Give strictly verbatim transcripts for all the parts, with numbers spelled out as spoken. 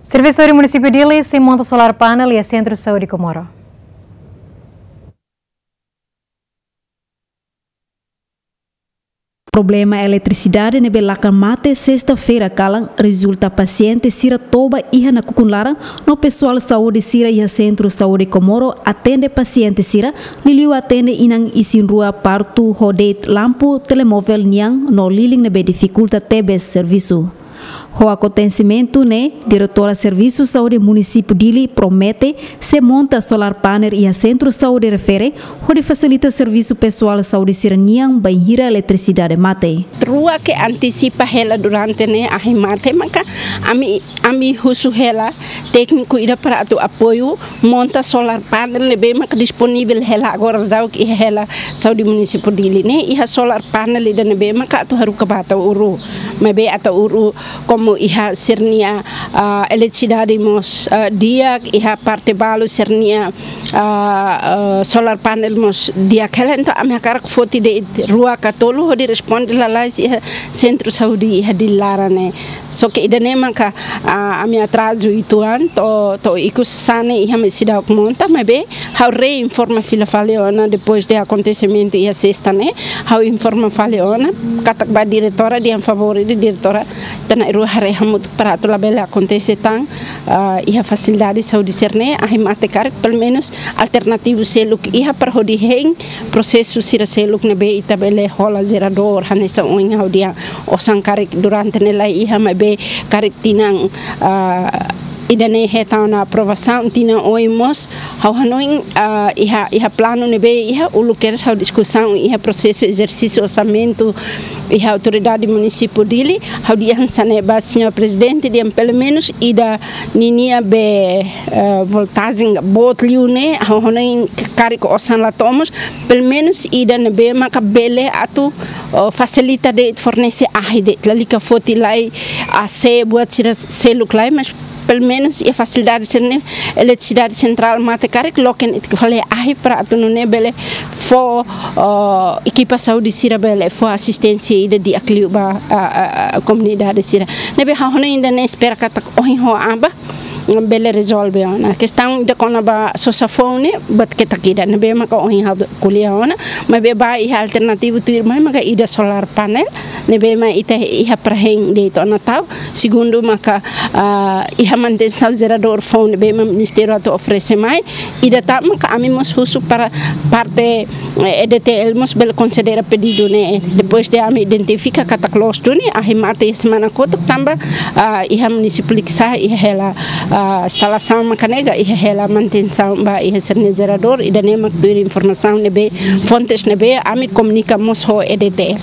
Servisu Saúde Munisípiu Dili sei monta solar panel iha Sentru Saúde Comoro. Problema eletrisidade ne'ebé lakan mate sesta-feira kalan rezulta pasiente sira toba iha nakukun laran, no pesoál saúde sira iha Sentru Saúde Comoro atende pasiente sira, liuliu atende inan isin-rua partu ho de'it lampu, telemovel nian no lilin ne'ebé difikulta tebes servisu. Ho akontesimentu ne'e, Diretora Servisu Saúde Munisípiu Dili promete sei monta solar panel iha Sentru Saúde refere, hodi fasilita servisu pesoál saúde sira-nian bainhira eletrisidade mate. Rua ke antisipa hela durante ne'e ahi mate maka ami, ami husu hela tékniku ida para atu apoiu monta solar panel ne'ebé maka disponivel hela agora daudauk iha hela Saúde Munisípiu Dili ne'e iha solar panel ida ne'ebé maka atu haruka ba Ataúru. Maibé Ataúru komu iha sira-nia, ah, eletrisidade mós, ah, di'ak, iha parte balu sira-nia, ah, ah, solar panel mós di'ak hela, entaun ami hakarak foti de'it rua ka tolu hodi responde lalais iha Sentru Saúde iha Dili laran ne'e. Só ke ida-ne'e maka, ah, ami atrazu uitoan, to'o, to'o ikus hanesan ne'e iha ami seidauk monta, maibé ha'u reinforma fila fali ona depois de akontesimentu iha sesta ne'e, ha'u informa fali ona, katak ba diretora dehan favór ida, diretora ita na'in-rua haree hamutuk para atu labele akontese tan, ah, iha fasilidade saúde sira-ne'e, ahi mate karik, pelumenus alternativu seluk iha para hodi hein prosesu sira seluk ne'ebé ita bele hola jeradór, hanesan ohin ha'u dehan osan karik durante ne'e la iha, maibé karik tinan, ah, ida-ne'e hetan ona aprovasaun, tinan oin mós ha'u hanoin, ah, iha, iha planu ne'ebé iha uluk kedas ha'u diskusaun iha prosesu ezersísiu orsamentu iha Autoridade Munisípiu Dili, ha'u dehan hanesan ne'e ba Señór Prezidente dehan pelumenus ida ninia be, eh, voltajen boot liu ne'e, ha'u hanoin karik osan la to'o mós, pelumenus ida ne'ebé maka bele atu, oh, fasilita de'it, fornese ahi de'it, lalika foti lai AC buat sira seluk lai, mas pelumenus iha fasilidade sira-ne'e, eletrisidade sentrál mate karik, loke netik fali ahi para atu nune'e bele fó, oh, ekipa saúde sira bele fó asisténsia ida di'ak liu ba, ah, ah, ah, komunidade sira. Ne'ebé ha'u hanoin ida-ne'e espera katak ohin ho aban bele rezolve ona. Kestaun ida kona-ba sosa foun ne'e, buat ketak ida ne'ebé maka ohin ha'u ko'alia ona, maibé ba iha alternativu tuirmai maka ida solar panel, ne'ebé mak ita iha para hein de'it ona tau. Segundu maka, ah, iha manutensaun jeradór foun ne'ebé mak ministériu atu oferese mai. Ida tan maka ami mós husu para parte, eh, EDTL mós bele konsidera pedidu ne'e. Depois de ami identifika katak loos duni, ahi mate semana kotuk tanba, ah, iha munisípiu Likisá iha hela, ah, instalasaun maka nega iha hela manutensaun ba iha sira-nia jeradór, ida-ne'e mak tuir informasaun ne'ebé, fontes ne'ebé ami komunika mós ho EDTL.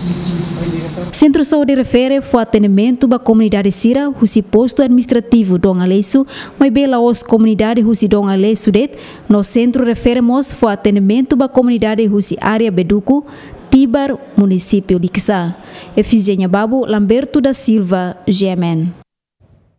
Sentru Saúde refere fó atendimentu ba komunidade sira husi postu administrativu Dom Aleixo, maibé la'ós komunidade husi Dom Aleixo de'it, no sentru refere mós fó atendimentu ba komunidade husi área Beduco, Tibar, munisípiu Likisá. Efigénia Babo, Lamberto da Silva, G M N.